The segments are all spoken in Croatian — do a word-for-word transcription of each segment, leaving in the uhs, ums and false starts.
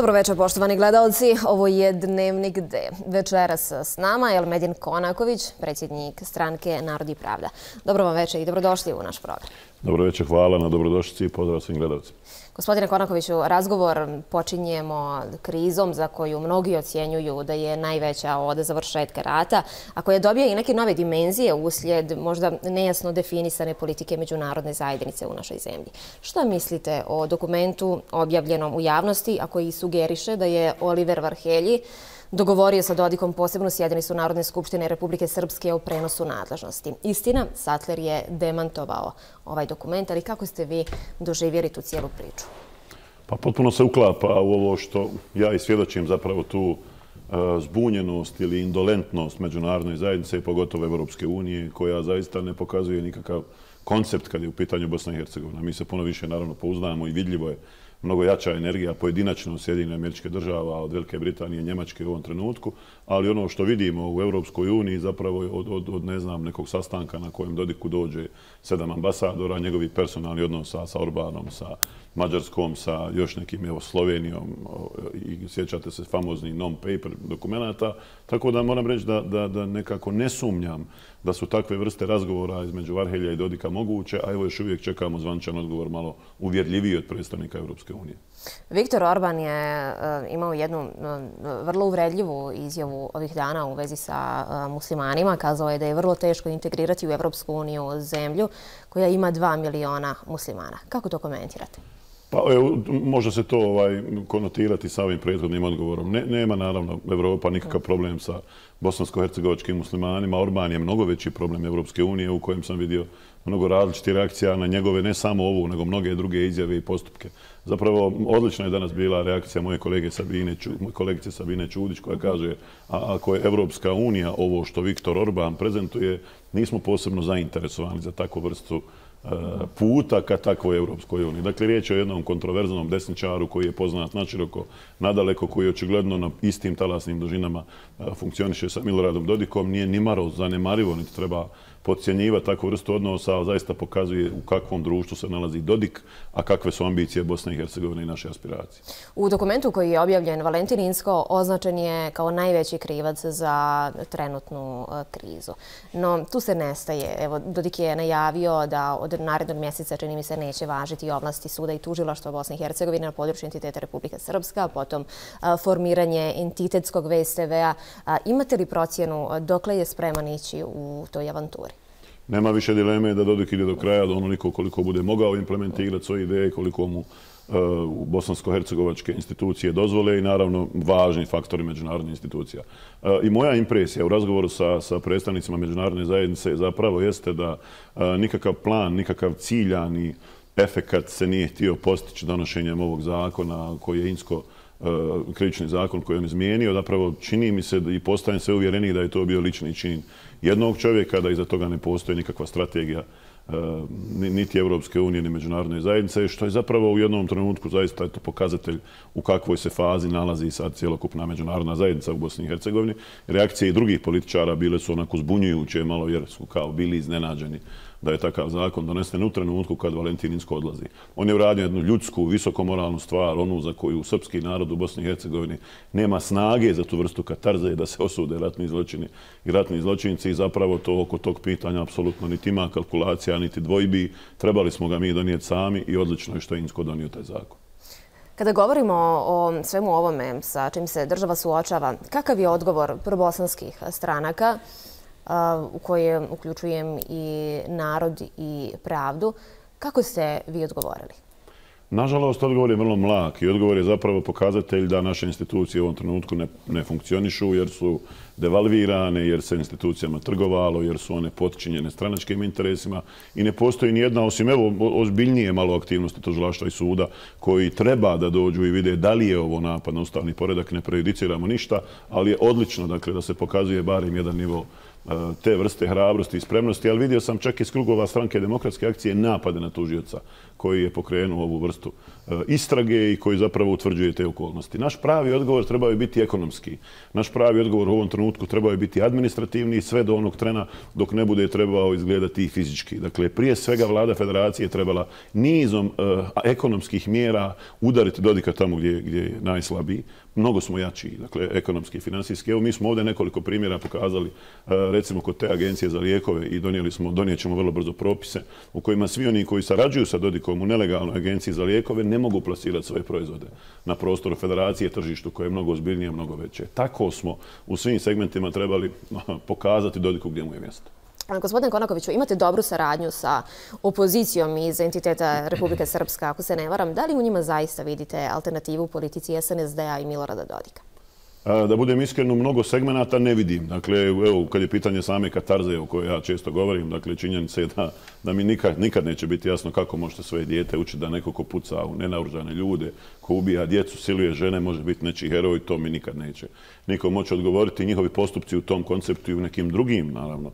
Dobro večer, poštovani gledalci. Ovo je Dnevnik D. Večeras s nama je Elmedin Konaković, predsjednik stranke Narod i pravda. Dobro vam večer i dobrodošli u naš program. Dobro večer, hvala na dobrodošlici i pozdrav svim gledalcima. Gospodine Konakoviću, razgovor počinjemo krizom za koju mnogi ocjenjuju da je najveća od završetka rata, a koja dobija i neke nove dimenzije uslijed možda nejasno definisane politike međunarodne zajednice u našoj zemlji. Šta mislite o dokumentu objavljenom u javnosti, a koji sugeriše da je Oliver Varhelji dogovorio sa Dodikom posebnu sjednicu Narodne skupštine Republike Srpske o prenosu nadležnosti? Istina, Sattler je demantovao ovaj dokument, ali kako ste vi doživjeli tu cijelu priču? Pa potpuno se uklapa u ovo što ja i svjedočim, zapravo tu zbunjenost ili indolentnost međunarodne zajednice i pogotovo Evropske unije, koja zaista ne pokazuje nikakav koncept kad je u pitanju Bosna i Hercegovina. Mi se puno više naravno pouzdajemo i vidljivo je mnogo jača energija pojedinačno Sjedinjenih Američkih Država od Velike Britanije i Njemačke u ovom trenutku, ali ono što vidimo u Europskoj uniji zapravo je od, od, od ne znam, nekog sastanka na kojem Dodiku dođe sedam ambasadora, njegovi personalni odnosa sa Orbanom, sa Mađarskom, sa još nekim, evo, Slovenijom i sjećate se famozni non-paper dokumenata. Tako da moram reći da, da, da nekako ne sumnjam da su takve vrste razgovora između Varhelja i Dodika moguće, a evo još uvijek čekamo zvančan odgovor malo uvjerljiviji od predstavnika Europske unije. Viktor Orban je imao jednu vrlo uvredljivu izjavu ovih dana u vezi sa muslimanima. Kazao je da je vrlo teško integrirati u Europsku uniju zemlju koja ima dva miliona muslimana. Kako to komentirate? Pa evo, može se to ovaj, konotirati sa ovim prethodnim odgovorom. Ne, nema naravno Evropa nikakav problem sa bosansko-hercegovačkim muslimanima. Orban je mnogo veći problem Evropske unije u kojem sam vidio mnogo različitih reakcija na njegove, ne samo ovu, nego mnoge druge izjave i postupke. Zapravo, odlična je danas bila reakcija moje kolege Sabine, kolegice Sabine Čudić, koja kaže, a ako je Evropska unija ovo što Viktor Orban prezentuje, nismo posebno zainteresovani za takvu vrstu puta ka takvoj Evropskoj uniji. Dakle, riječ je o jednom kontroverznom desničaru koji je poznat naširoko, nadaleko, koji očigledno na istim talasnim dužinama funkcioniše sa Miloradom Dodikom. Nije nimalo zanemarivo, niti treba podcjenjivati takvu vrstu odnosa, ali zaista pokazuje u kakvom društvu se nalazi Dodik, a kakve su ambicije Bosne i Hercegovine i naše aspiracije. U dokumentu koji je objavljen, Valentin Inzko označen je kao najveći krivac za trenutnu krizu. No, tu se nestaje. Evo, Dodik je najavio da od narednog mjeseca, čini mi se, neće važiti ovlasti suda i tužilaštva Bosne i Hercegovine na području entiteta Republike Srpska, potom formiranje entitetskog V S T V-a. Imate li procjenu dokle je spreman ići u toj avanturi? Nema više dileme da Dodik ide do kraja, da onoliko koliko bude mogao implementirati svoje ideje, koliko mu u bosansko-hercegovačke institucije dozvole i naravno važni faktori međunarodnih institucija. I moja impresija u razgovoru sa, sa predstavnicima međunarodne zajednice zapravo jeste da nikakav plan, nikakav ciljani efekat se nije htio postići donošenjem ovog zakona koji je Inzko krivični zakon koji on izmijenio. Zapravo čini mi se i postajem sve uvjereniji da je to bio lični čin jednog čovjeka, da iza toga ne postoji nikakva strategija niti Evropske unije, ni međunarodne zajednice, što je zapravo u jednom trenutku zaista eto, pokazatelj u kakvoj se fazi nalazi sad cjelokupna međunarodna zajednica u Bosni i Hercegovini. Reakcije i drugih političara bile su onako zbunjujuće, malo jer su kao bili iznenađeni da je takav zakon donesen u trenutku kad Valentin Inzko odlazi. On je uradio jednu ljudsku, visokomoralnu stvar, onu za koju srpski narod u Bosni i Hercegovini nema snage za tu vrstu katarze da se osude ratni zločini i ratni zločinci i zapravo to oko tog pitanja apsolutno niti ima kalkulacija, niti dvojbi. Trebali smo ga mi donijeti sami i odlično je što je Inzko donio taj zakon. Kada govorimo o svemu ovome sa čim se država suočava, kakav je odgovor probosanskih stranaka, u koje uključujem i Narod i pravdu? Kako ste vi odgovorili? Nažalost, odgovor je vrlo mlak i odgovor je zapravo pokazatelj da naše institucije u ovom trenutku ne, ne funkcionišu jer su devalvirane, jer se institucijama trgovalo, jer su one potčinjene stranačkim interesima i ne postoji ni jedna, osim evo ozbiljnije malo aktivnosti tužilaštva i suda koji treba da dođu i vide da li je ovo napad na ustavni poredak, ne prejudiciramo ništa, ali je odlično dakle, da se pokazuje barem jedan nivo te vrste hrabrosti i spremnosti, ali vidio sam čak iz krugova stranke Demokratske akcije napade na tužioca koji je pokrenuo ovu vrstu istrage i koji zapravo utvrđuje te okolnosti. Naš pravi odgovor trebao je biti ekonomski. Naš pravi odgovor u ovom trenutku trebao je biti administrativni sve do onog trena dok ne bude trebao izgledati i fizički. Dakle, prije svega vlada federacije trebala nizom uh, ekonomskih mjera udariti Dodika tamo gdje, gdje je najslabiji. Mnogo smo jači, dakle, ekonomski i financijski. Evo, mi smo ovdje nekoliko primjera pokazali, uh, recimo kod te agencije za lijekove i donijeli smo, donijet ćemo vrlo brzo propise u kojima svi oni koji sarađuju sa Dodikom u nelegalnoj agenciji za lijekove ne mogu plasirati svoje proizvode na prostoru federacije, tržištu koje je mnogo ozbiljnije, mnogo veće. Tako smo u svim segmentima trebali pokazati Dodiku gdje mu je mjesto. Gospodine Konakoviću, imate dobru saradnju sa opozicijom iz entiteta Republike Srpska, ako se ne varam. Da li u njima zaista vidite alternativu u politici S N S D-a i Milorada Dodika? Da budem iskren, u mnogo segmenata ne vidim. Dakle, evo, kad je pitanje same katarze o kojoj ja često govorim, dakle, činjenica je da, da mi nikad, nikad neće biti jasno kako možete svoje dijete učiti da neko ko puca u nenaoružane ljude, ko ubija djecu, siluje žene, može biti nečiji heroj, to mi nikad neće niko moći odgovoriti. Njihovi postupci u tom konceptu i u nekim drugim, naravno,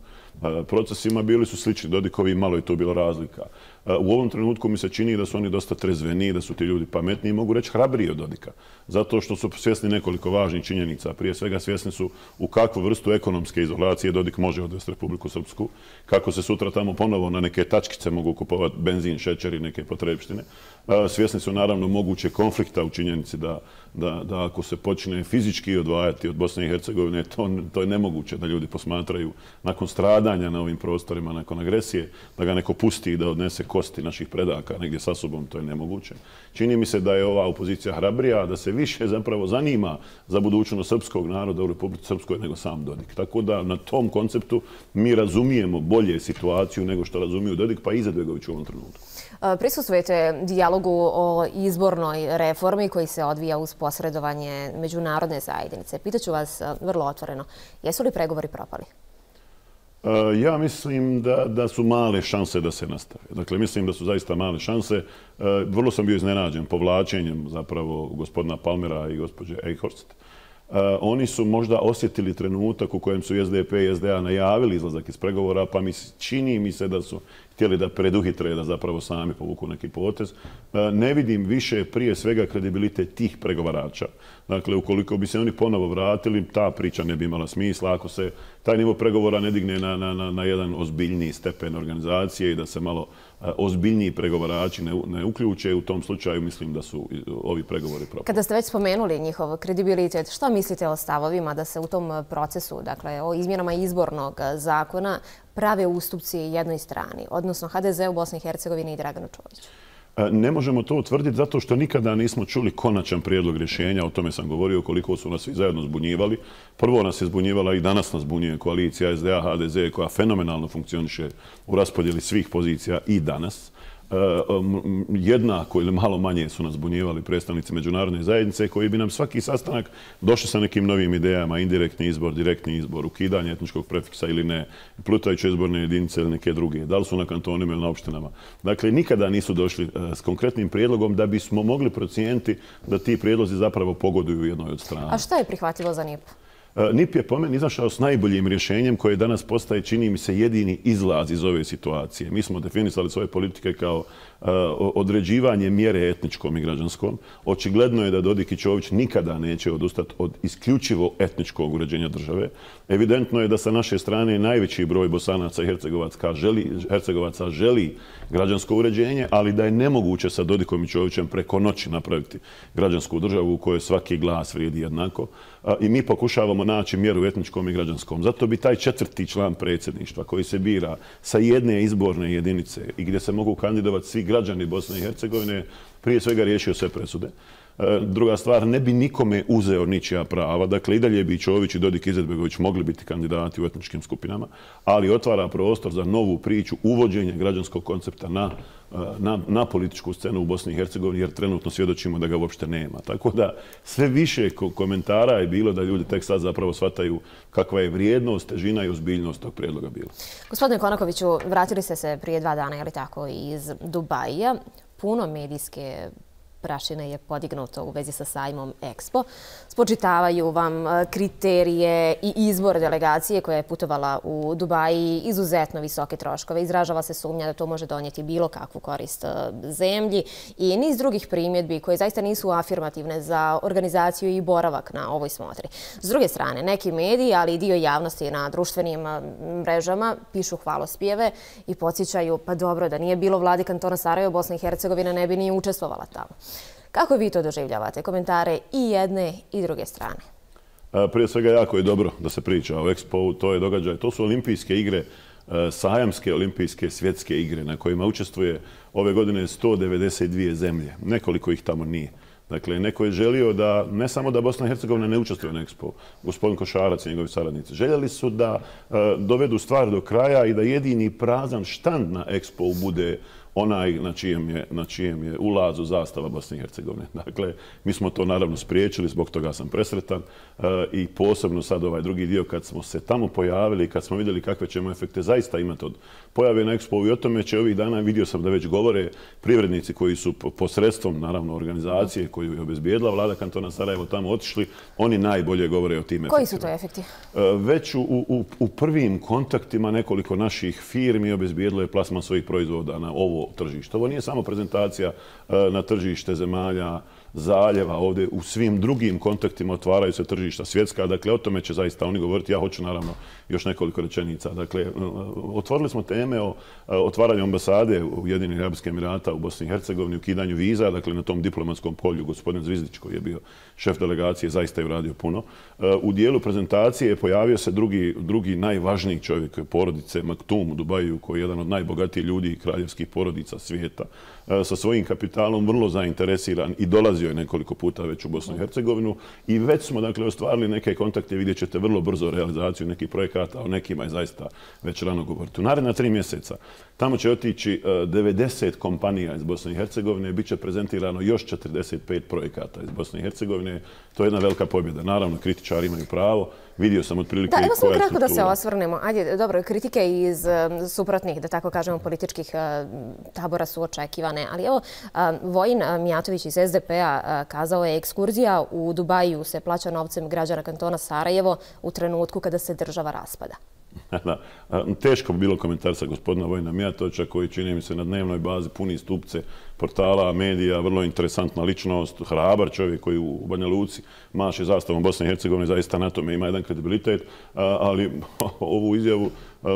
procesima bili su slični Dodikovi, malo je to bilo razlika. U ovom trenutku mi se čini da su oni dosta trezveniji, da su ti ljudi pametniji i mogu reći hrabriji od Dodika. Zato što su svjesni nekoliko važnih činjenica. Prije svega svjesni su u kakvu vrstu ekonomske izolacije Dodik može odvesti Republiku Srpsku, kako se sutra tamo ponovo na neke tačkice mogu kupovati benzin, šećer i neke potrebštine. Svjesni su naravno moguće konflikta u činjenici da, da, da ako se počne fizički odvajati od Bosne i Hercegovine, to, to je nemoguće da ljudi posmatraju nakon stradanja na ovim prostorima, nakon agresije, da ga neko pusti i da odnese kosti naših predaka negdje sa sobom, to je nemoguće. Čini mi se da je ova opozicija hrabrija, da se više zapravo zanima za budućnost srpskog naroda u Republici Srpskoj nego sam Dodik. Tako da na tom konceptu mi razumijemo bolje situaciju nego što razumiju Dodik, pa i Izetbegović u ovom trenutku. Prisustvujete dijalogu o izbornoj reformi koji se odvija uz posredovanje međunarodne zajednice. Pitaću vas vrlo otvoreno, jesu li pregovori propali? Ja mislim da, da su male šanse da se nastave. Dakle, mislim da su zaista male šanse. Vrlo sam bio iznenađen povlačenjem zapravo gospodina Palmera i gospođe Eichhorst. Oni su možda osjetili trenutak u kojem su S D P i S D A najavili izlazak iz pregovora, pa mi čini mi se da su htjeli da preduhitre, da zapravo sami povuku neki potez. Ne vidim više prije svega kredibilitet tih pregovarača. Dakle, ukoliko bi se oni ponovo vratili, ta priča ne bi imala smisla. Ako se taj nivo pregovora ne digne na, na, na, na jedan ozbiljniji stepen organizacije i da se malo ozbiljniji pregovarači ne, ne uključe, u tom slučaju mislim da su ovi pregovori propali. Kada ste već spomenuli njihov kredibilitet, što mislite o stavovima da se u tom procesu, dakle o izmjenama izbornog zakona, prave ustupci jednoj strani, odnosno H D Z u Bosni i Hercegovini i Draganu Čoviću? Ne možemo to utvrditi zato što nikada nismo čuli konačan prijedlog rješenja. O tome sam govorio koliko su nas svi zajedno zbunjivali. Prvo nas je zbunjivala i danas nas zbunjuje koalicija S D A H D Z koja fenomenalno funkcioniše u raspodjeli svih pozicija i danas. Jednako ili malo manje su nas zbunjivali predstavnici međunarodne zajednice koji bi nam svaki sastanak došli sa nekim novim idejama, indirektni izbor, direktni izbor, ukidanje etničkog prefiksa ili ne, plutajuće izborne jedinice ili neke druge, da li su na kantonima ili na opštinama. Dakle, nikada nisu došli s konkretnim prijedlogom da bismo mogli procijeniti da ti prijedlozi zapravo pogoduju jednoj od strana. A šta je prihvatljivo za N I P? N I P je po meni izašao s najboljim rješenjem koje danas postaje, čini mi se, jedini izlaz iz ove situacije. Mi smo definisali svoje politike kao uh, određivanje mjere etničkom i građanskom. Očigledno je da Dodik i Čović nikada neće odustati od isključivo etničkog uređenja države. Evidentno je da sa naše strane najveći broj Bosanaca i Hercegovaca želi, Hercegovaca želi građansko uređenje, ali da je nemoguće sa Dodikom i Čovićem preko noći napraviti građansku državu u kojoj svaki glas vrijedi jednako. I mi pokušavamo naći mjeru etničkom i građanskom. Zato bi taj četvrti član predsjedništva koji se bira sa jedne izborne jedinice i gdje se mogu kandidovati svi građani Bosne i Hercegovine prije svega riješio sve presude. Druga stvar, ne bi nikome uzeo ničija prava. Dakle, i dalje bi Čović i Dodik i Izetbegović mogli biti kandidati u etničkim skupinama, ali otvara prostor za novu priču, uvođenje građanskog koncepta na, na, na političku scenu u Bosni i Hercegovini, jer trenutno svjedočimo da ga uopšte nema. Tako da sve više komentara je bilo da ljudi tek sad zapravo shvataju kakva je vrijednost, težina i ozbiljnost tog prijedloga bila. Gospodine Konakoviću, vratili ste se prije dva dana, je li tako, iz Dubaija. Puno medijske prašine je podignuto u vezi sa sajmom Expo. Spočitavaju vam kriterije i izbor delegacije koja je putovala u Dubaji, izuzetno visoke troškove. Izražava se sumnja da to može donijeti bilo kakvu korist zemlji i niz drugih primjedbi koje zaista nisu afirmativne za organizaciju i boravak na ovoj smotri. S druge strane, neki mediji, ali i dio javnosti na društvenim mrežama pišu hvalospjeve i podsjećaju, pa dobro, da nije bilo vladi kantona Sarajevo, Bosna i Hercegovina ne bi ni učestvovala tamo. Kako vi to doživljavate? Komentare i jedne i druge strane. Prije svega jako je dobro da se priča o Expo, to je događaj. To su olimpijske igre, sajamske olimpijske svjetske igre na kojima učestvuje ove godine sto devedeset dvije zemlje. Nekoliko ih tamo nije. Dakle, neko je želio da, ne samo da Bosna i Hercegovina ne učestvuje na Expo, gospodin Košarac i njegovi saradnici, željeli su da dovedu stvar do kraja i da jedini prazan štand na Expo bude onaj na čijem je, na čijem je ulazu zastava Bosne i Hercegovine. Dakle, mi smo to naravno spriječili, zbog toga sam presretan i posebno sad ovaj drugi dio kad smo se tamo pojavili, kad smo vidjeli kakve ćemo efekte zaista imati od pojave na Expo i o tome će ovih dana, vidio sam da već govore privrednici koji su posredstvom, naravno, organizacije koju je obezbijedila vlada kantona Sarajevo tamo otišli, oni najbolje govore o tim efektima. Koji su to efekti? Već u, u, u prvim kontaktima nekoliko naših firmi obezbijedilo je plasman svojih proizvoda na ovo tržište. Ovo nije samo prezentacija na tržište zemalja zaljeva, ovdje u svim drugim kontaktima otvaraju se tržišta svjetska, dakle o tome će zaista oni govoriti. Ja hoću naravno još nekoliko rečenica. Dakle, otvorili smo teme o otvaranju ambasade Ujedinjenih Arapskih Emirata u Bosni i Hercegovini, ukidanju viza, dakle na tom diplomatskom polju gospodin Zvizdić koji je bio šef delegacije, zaista je uradio puno. U dijelu prezentacije pojavio se drugi, drugi najvažniji čovjek porodice Maktum u Dubaju, koji je jedan od najbogatijih ljudi i kraljevskih porodica svijeta, sa svojim kapitalom vrlo zainteresiran i dolazio je nekoliko puta već u Bosnu i Hercegovinu i već smo dakle ostvarili neke kontakte, vidjet ćete vrlo brzo realizaciju nekih projekata, o nekima je zaista već rano govoriti. U naredna tri mjeseca tamo će otići devedeset kompanija iz Bosne i Hercegovine i bit će prezentirano još četrdeset pet projekata iz Bosne i Hercegovine. To je jedna velika pobjeda. Naravno, kritičari imaju pravo. Vidio sam otprilike koja je struktura. Da, evo samo kratko da se osvrnemo. Ajde, dobro, kritike iz suprotnih, da tako kažemo, političkih tabora su očekivane. Ali evo, Vojin Mijatović iz es de pe-a kazao je ekskurzija u Dubaju se plaća novcem građana kantona Sarajevo u trenutku kada se država raspada. Da, teško bi bilo komentar sa gospodina Vojina Mijatovića koji čini mi se na dnevnoj bazi puni stupce portala, medija, vrlo interesantna ličnost, hrabar čovjek koji u Banja Luci maše zastavom Bosne i Hercegovine, zaista na tome ima jedan kredibilitet, ali ovu izjavu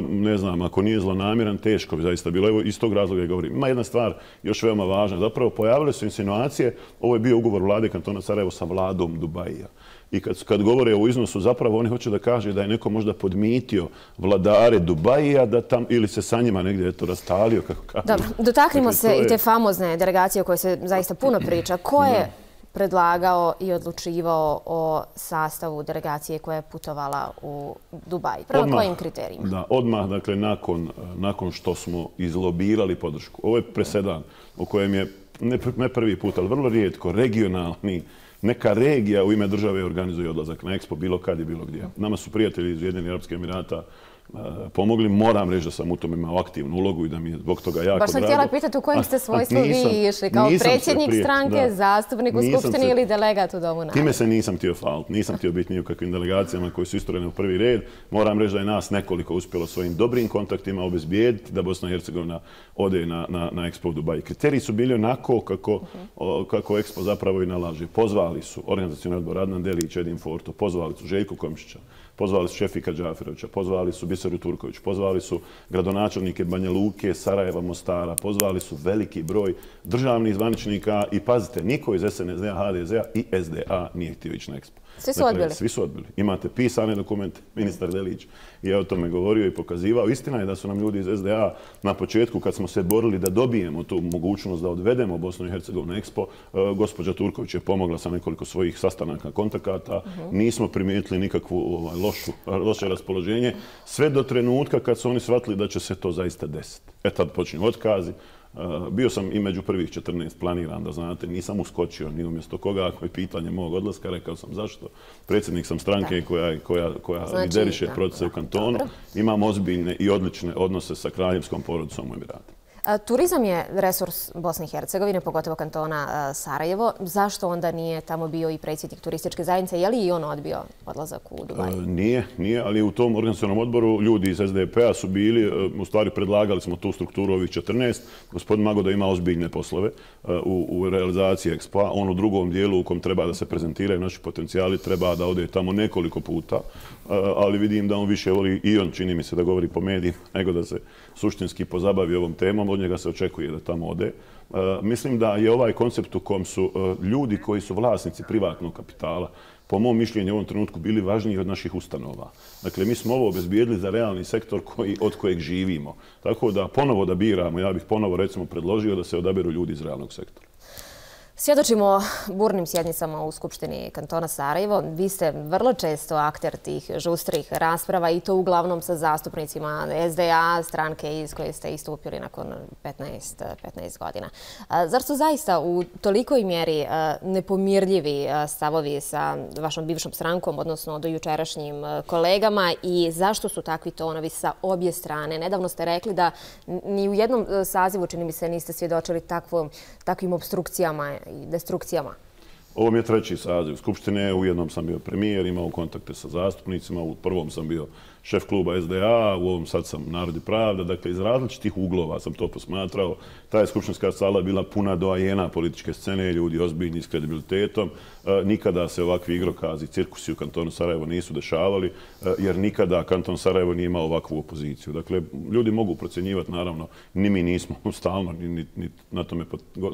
ne znam, ako nije zlonamjeran, teško bi zaista bilo. Evo, iz tog razloga je govorim. Ima jedna stvar još veoma važna. Zapravo pojavile su insinuacije, ovo je bio ugovor vlade kantona Sarajevo sa vladom Dubaija. I kad, kad govore o iznosu, zapravo oni hoće da kaže da je neko možda podmitio vladare Dubaija da tam, ili se sa njima negdje eto rastalio, kako kažu. Dobro, dotaknimo dakle, se je... i te famozne delegacije o kojoj se zaista puno priča. Ko je predlagao i odlučivao o sastavu delegacije koja je putovala u Dubaj? Prema odmah, kojim kriterijima? Da, odmah, dakle, nakon, nakon što smo izlobirali podršku. Ovo je presedan u kojem je, ne, ne prvi put, ali vrlo rijetko, regionalni, neka regija u ime države organizuje odlazak na Expo, bilo kad i bilo gdje. Nama su prijatelji iz Ujedinjenih Arapskih Emirata pomogli. Moram reći da sam u tome imao aktivnu ulogu i da mi je zbog toga jako drago. Baš sam htjela pitati u kojem ste svojstvu vi išli, kao predsjednik stranke, zastupnik u Skupštini ili delegat u Domu naroda. Time se nisam htio faliti, nisam htio biti ni u kakvim delegacijama koji su istorene u prvi red. Moram reći da je nas nekoliko uspjelo svojim dobrim kontaktima obezbijediti da Bosna i Hercegovina ode na, na, na Expo u Dubai. Kriteriji su bili onako kako, o, kako Expo zapravo i nalaže. Pozvali su organizacioni odbor Adnan Delić, Edin Forto, pozvali su Željko Komšića, pozvali su Šefika Džaferovića, pozvali su Biseru Turković, pozvali su gradonačelnike Banja Luke, Sarajeva, Mostara, pozvali su veliki broj državnih zvaničnika i pazite, niko iz es en es de-a, ha de ze-a i es de a nije htio ići na Expo. Svi su dakle, odbili? Svi su odbili. Imate pisane dokumente, ministar Delić je o tome govorio i pokazivao. Istina je da su nam ljudi iz es de a na početku, kad smo se borili da dobijemo tu mogućnost da odvedemo Bosnu i Hercegovinu na Expo, gospođa Turković je pomogla sa nekoliko svojih sastanaka, kontakata. Uh-huh. Nismo primijetili nikakvu ovaj, lošu, loše raspoloženje, sve do trenutka kad su oni shvatili da će se to zaista desiti. E tad počinju otkazi. Uh, bio sam i među prvih četrnaest planiran, da znate, nisam uskočio ni umjesto koga, ako je pitanje mog odlaska, rekao sam zašto. Predsjednik sam stranke da. koja, koja, koja znači, lideriše procese u kantonu. Dobro. Imam ozbiljne i odlične odnose sa kraljevskom porodicom u Emiratima. Turizam je resurs Bosne i Hercegovine, pogotovo kantona Sarajevo. Zašto onda nije tamo bio i predsjednik turističke zajednice? Je li i on odbio odlazak u Dubaj? Nije, nije, ali u tom organizacionom odboru ljudi iz S D P-a su bili, u stvari predlagali smo tu strukturu ovih četrnaest. Gospodin Magoda ima ozbiljne poslove u, u realizaciji Expo-a. On u drugom dijelu u kom treba da se prezentiraju naši potencijali, treba da ode tamo nekoliko puta, ali vidim da on više voli, i on čini mi se da govori po medijima, nego da se suštinski pozabavi ovom temom. Od njega se očekuje da tamo ode. Mislim da je ovaj koncept u kom su ljudi koji su vlasnici privatnog kapitala, po mom mišljenju u ovom trenutku bili važniji od naših ustanova. Dakle, mi smo ovo obezbijedili za realni sektor koji, od kojeg živimo. Tako da ponovo da biramo, ja bih ponovo recimo predložio da se odaberu ljudi iz realnog sektora. Svjedočimo burnim sjednicama u Skupštini kantona Sarajevo. Vi ste vrlo često akter tih žustrih rasprava i to uglavnom sa zastupnicima S D A, stranke iz koje ste istupili nakon petnaest godina. Zar su zaista u tolikoj mjeri nepomirljivi stavovi sa vašom bivšom strankom, odnosno do jučerašnjim kolegama, i zašto su takvi tonovi sa obje strane? Nedavno ste rekli da ni u jednom sazivu, čini mi se, niste svjedočili takvim obstrukcijama i destrukcijama. Ovo mi je treći saziv Skupštine. U jednom sam bio premijer, imao kontakte sa zastupnicima. U prvom sam bio šef kluba S D A, u ovom sad sam Narod i pravda. Dakle, iz različitih uglova sam to posmatrao. Ta je skupštinska sala bila puna doajena političke scene, ljudi ozbiljni s kredibilitetom. Nikada se ovakvi igrokazi, cirkusi u kantonu Sarajevo nisu dešavali, jer nikada kanton Sarajevo nije imao ovakvu opoziciju. Dakle, ljudi mogu procjenjivati, naravno, ni mi nismo stalno, niti na tome,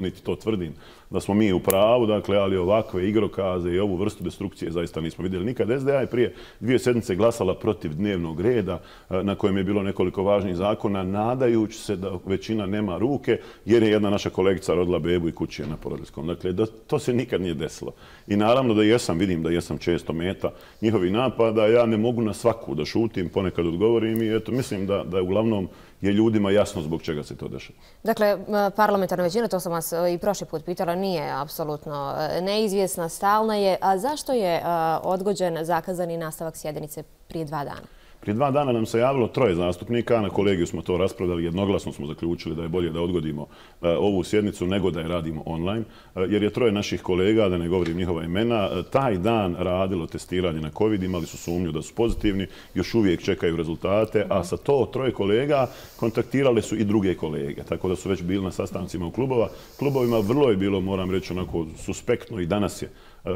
niti to tvrdim, da smo mi u pravu, dakle, ali ovakve igrokaze i ovu vrstu destrukcije zaista nismo vidjeli nikad. S D A je prije dvije sedmice glasala protiv dnevnog reda na kojem je bilo nekoliko važnih zakona, nadajući se da većina nema ruke, jer je jedna naša kolegica rodila bebu i kući je na porodiljskom. Dakle, da, to se nikad nije desilo. I naravno da jesam, vidim da jesam često meta njihovi napada, ja ne mogu na svaku da šutim, ponekad odgovorim i eto, mislim da, da uglavnom je ljudima jasno zbog čega se to dešava. Dakle, parlamentarna većina, to sam vas i prošli put pitala, nije apsolutno neizvjesna, stalna je. A zašto je odgođen zakazani nastavak sjednice prije dva dana? Prije dva dana nam se javilo troje zastupnika, na kolegiju smo to raspravljali, jednoglasno smo zaključili da je bolje da odgodimo ovu sjednicu nego da je radimo online, jer je troje naših kolega, da ne govorim njihova imena, taj dan radilo testiranje na COVID, imali su sumnju da su pozitivni, još uvijek čekaju rezultate, a sa to troje kolega kontaktirale su i druge kolege, tako da su već bili na sastancima u klubova. Klubovima vrlo je bilo, moram reći, onako suspektno i danas je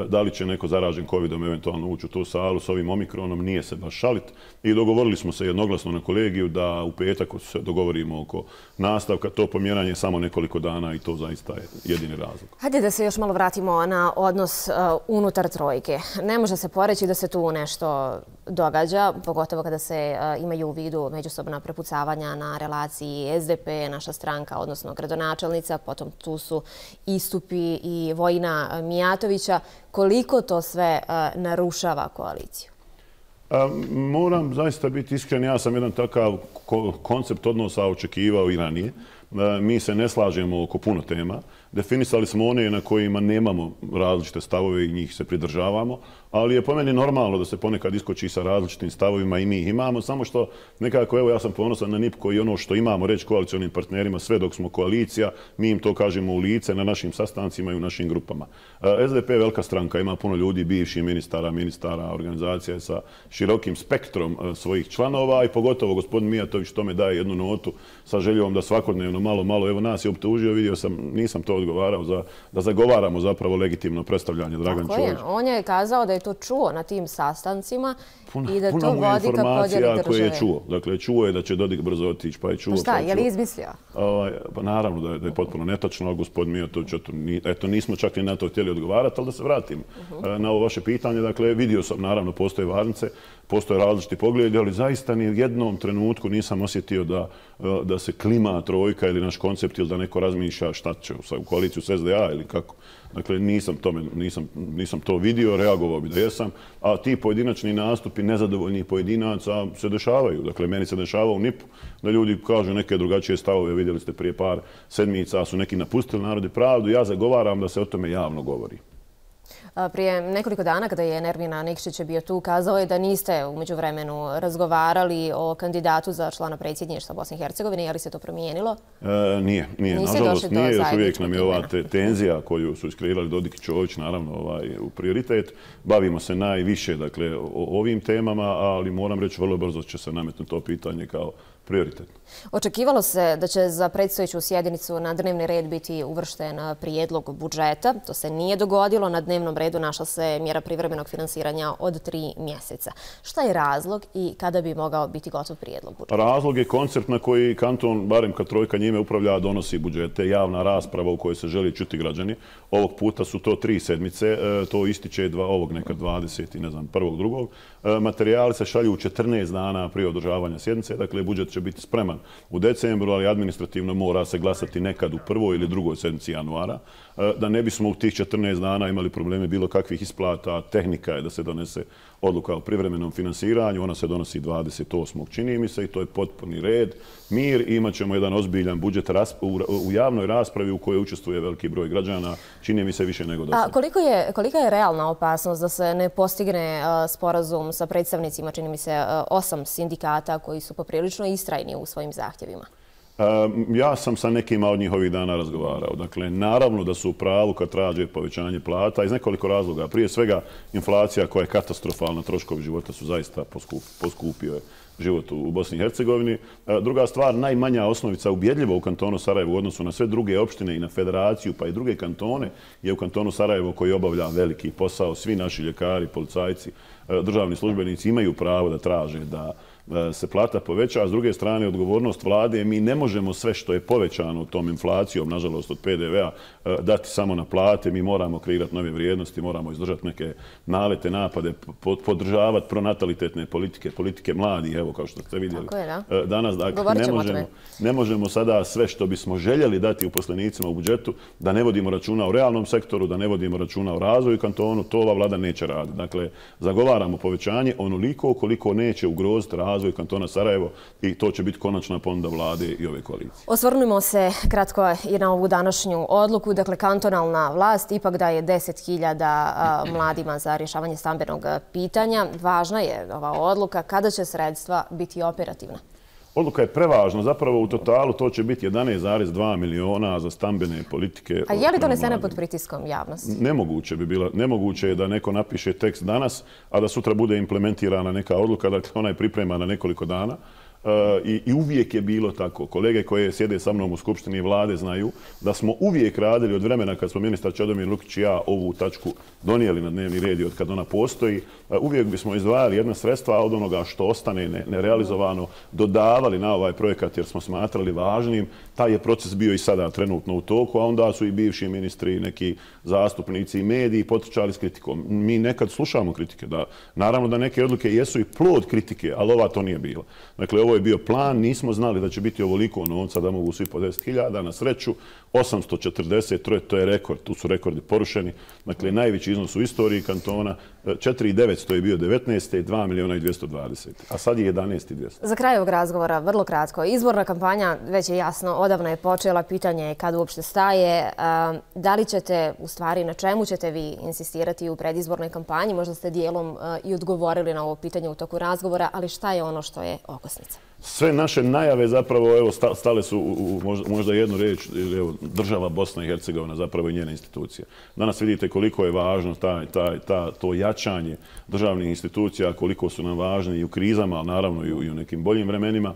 da li će neko zaražen covidom eventualno ući u tu salu s ovim omikronom, nije se baš šalit. I dogovorili smo se jednoglasno na kolegiju da u petak se dogovorimo oko nastavka. To pomjeranje samo nekoliko dana i to zaista je jedini razlog. Hajde da se još malo vratimo na odnos unutar trojke. Ne može se poreći da se tu nešto događa, pogotovo kada se imaju u vidu međusobna prepucavanja na relaciji S D P, naša stranka, odnosno gradonačelnica, potom tu su istupi i Vojina Mijatovića. Koliko to sve narušava koaliciju? Moram zaista biti iskren, ja sam jedan takav koncept odnosa očekivao i ranije. Mi se ne slažemo oko puno tema. Definisali smo one na kojima nemamo različite stavove i njih se pridržavamo, ali je po meni normalno da se ponekad iskoči sa različitim stavovima i mi ih imamo, samo što nekako, evo, ja sam ponosan na N I P koji ono što imamo reći koalicionim partnerima sve dok smo koalicija, mi im to kažemo u lice na našim sastancima i u našim grupama. S D P je velika stranka, ima puno ljudi, bivših ministara, ministara, organizacija sa širokim spektrom svojih članova i pogotovo gospodin Mijatović tome daje jednu notu sa željom da svakodnevno malo, malo, evo nas je optužio, vidio sam, nisam to odgovarao, za, da zagovaramo zapravo legitimno predstavljanje Dragan Čović. On je kazao da je to čuo na tim sastancima Puna, i da puna to vodi ka podjeli države. koje je čuo. Dakle, čuo je da će Dodik brzo otići, pa je čuo. Pa šta, pa je, je li izmislio? Ovaj, pa naravno da je, da je potpuno netačno, a gospodin Mijatović, eto, eto, nismo čak ni na to htjeli odgovarati, ali da se vratim uh -huh. na ovo vaše pitanje. Dakle, vidio sam, naravno, postoje varnice, postoje različiti pogledi, ali zaista ni u jednom trenutku nisam osjetio da, da se klima trojka ili naš koncept ili da neko razmišlja šta će u koaliciju s S D A ili kako. Dakle, nisam, tome, nisam, nisam to vidio, reagovao bi da jesam, a ti pojedinačni nastupi nezadovoljnih pojedinaca se dešavaju. Dakle, meni se dešava u N I P-u da ljudi kažu neke drugačije stavove, vidjeli ste prije par sedmica, su neki napustili Narod i pravdu, ja zagovaram da se o tome javno govori. Prije nekoliko dana kada je Nermina Nikšić bio tu, kazao je da niste u međuvremenu razgovarali o kandidatu za člana predsjedništva Bosne i Hercegovine. Je li se to promijenilo? E, nije, nije. Nažalost, nije. Još uvijek nam je ova te, tenzija koju su iskreirali Dodik i Čović, naravno, ovaj, u prioritet. Bavimo se najviše dakle, o ovim temama, ali moram reći vrlo brzo će se nametnuti to pitanje kao prioritetno. Očekivalo se da će za predstojeću sjednicu na dnevni red biti uvršten prijedlog budžeta. To se nije dogodilo. Na dnevnom redu našla se mjera privremenog finansiranja od tri mjeseca. Šta je razlog i kada bi mogao biti gotov prijedlog budžeta? Razlog je koncept na koji kanton, barem kad trojka njime upravlja, donosi budžete. Javna rasprava u kojoj se želi čuti građani. Ovog puta su to tri sedmice. To ističe dva, ovog nekad dvadeset i ne znam, prvog, drugog. Materijali se šalju u četrnaest dana prije održavanja sjednice. Dakle, budžet će biti spreman u decembru, ali administrativno mora se glasati nekad u prvoj ili drugoj sedmici januara. Da ne bismo u tih četrnaest dana imali probleme bilo kakvih isplata, tehnika je da se donese odluka o privremenom finansiranju. Ona se donosi dvadeset osmog čini mi se i to je potpuni red, mir i imat ćemo jedan ozbiljan budžet u javnoj raspravi u kojoj učestvuje veliki broj građana. Čini mi se više nego do sada. A koliko je, kolika je realna opasnost da se ne postigne sporazum sa predstavnicima, čini mi se, osam sindikata koji su poprilično istrajni u svojim zahtjevima? Ja sam sa nekima od njih ovih dana razgovarao. Dakle, naravno da su u pravu kad traže povećanje plata iz nekoliko razloga. Prije svega, inflacija koja je katastrofalna, troškovi života su zaista poskupio život u Bosni i Hercegovini. Druga stvar, najmanja osnovica ubjedljiva u kantonu Sarajevo u odnosu na sve druge opštine i na federaciju, pa i druge kantone, je u kantonu Sarajevo koji obavlja veliki posao. Svi naši ljekari, policajci, državni službenici imaju pravo da traže da se plata poveća, a s druge strane odgovornost vlade, mi ne možemo sve što je povećano tom inflacijom, nažalost od P D V-a, dati samo na plate, mi moramo kreirati nove vrijednosti, moramo izdržati neke nalete, napade, podržavati pronatalitetne politike, politike mladih, evo kao što ste vidjeli. Tako je, da. Danas, dakle, ne možemo, ne možemo sada sve što bismo željeli dati uposlenicima u budžetu, da ne vodimo računa o realnom sektoru, da ne vodimo računa o razvoju kantonu, to ova vlada neće raditi. Dakle, zagovaramo povećanje onoliko koliko neće ugroziti razvoj kantona Sarajevo i to će biti konačna ponuda vlade i ove koalicije. Osvrnimo se kratko i na ovu današnju odluku. Dakle, kantonalna vlast ipak daje deset hiljada mladima za rješavanje stambenog pitanja. Važna je ova odluka. Kada će sredstva biti operativna? Odluka je prevažna. Zapravo u totalu to će biti jedanaest zarez dva miliona za stambene politike. A je li donesena pod pritiskom javnosti? Nemoguće bi bilo. Nemoguće je da neko napiše tekst danas, a da sutra bude implementirana neka odluka. Dakle, ona je pripremana nekoliko dana. I, i uvijek je bilo tako. Kolege koje sjede sa mnom u Skupštini vlade znaju da smo uvijek radili od vremena kad smo ministar Čedomir Lukić i ja ovu tačku donijeli na dnevni red i od kad ona postoji, uvijek bismo izdvajali jedna sredstva od onoga što ostane nerealizovano, dodavali na ovaj projekat jer smo smatrali važnim. Taj je proces bio i sada trenutno u toku, a onda su i bivši ministri, neki zastupnici i mediji potrčali s kritikom. Mi nekad slušamo kritike. Da, naravno da neke odluke jesu i plod kritike, ali ova to nije bila. Dakle, ovo je bio plan, nismo znali da će biti ovoliko novca da mogu svi po deset hiljada. Na sreću, osamsto četrdeset, to je rekord, tu su rekordi porušeni. Dakle, najveći iznos u istoriji kantona, četiri hiljade devetsto je bio devetnaeste, dva miliona i dvjesto dvadeset, a sad je jedanaest hiljada dvjesto. Za kraj ovog razgovora, vrlo kratko, izborna kampanja već je jasno, odavno je počela, pitanje je kad uopšte staje. Da li ćete, u stvari, na čemu ćete vi insistirati u predizbornoj kampanji? Možda ste dijelom i odgovorili na ovo pitanje u toku razgovora, ali šta je ono što je okosnica? Sve naše najave zapravo evo, stale su u možda, možda jednu riječ, evo, država Bosna i Hercegovina, zapravo i njene institucije. Danas vidite koliko je važno taj, taj, ta, to jačanje državnih institucija, koliko su nam važni i u krizama, ali naravno i u, i u nekim boljim vremenima,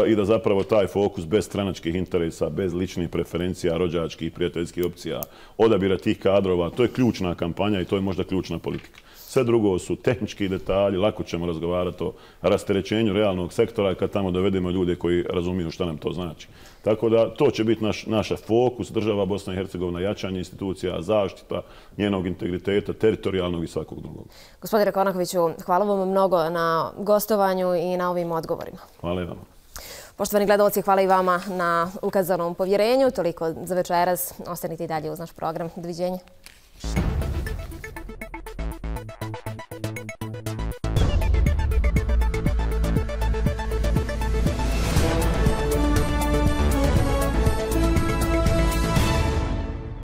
i da zapravo taj fokus bez stranačkih interesa, bez ličnih preferencija, rođačkih i prijateljskih opcija, odabira tih kadrova, to je ključna kampanja i to je možda ključna politika. Sve drugo su tehnički detalji, lako ćemo razgovarati o rasterećenju realnog sektora kad tamo dovedemo ljude koji razumiju šta nam to znači. Tako da to će biti naš, naša fokus, država Bosna i Hercegovina, jačanje institucija, zaštita njenog integriteta, teritorijalnog i svakog drugog. Gospodine Konakoviću, hvala vam mnogo na gostovanju i na ovim odgovorima. Hvala i vama. Poštovani gledalci, hvala i vama na ukazanom povjerenju. Toliko za večeras. Ostanite i dalje uz naš program. Doviđenja.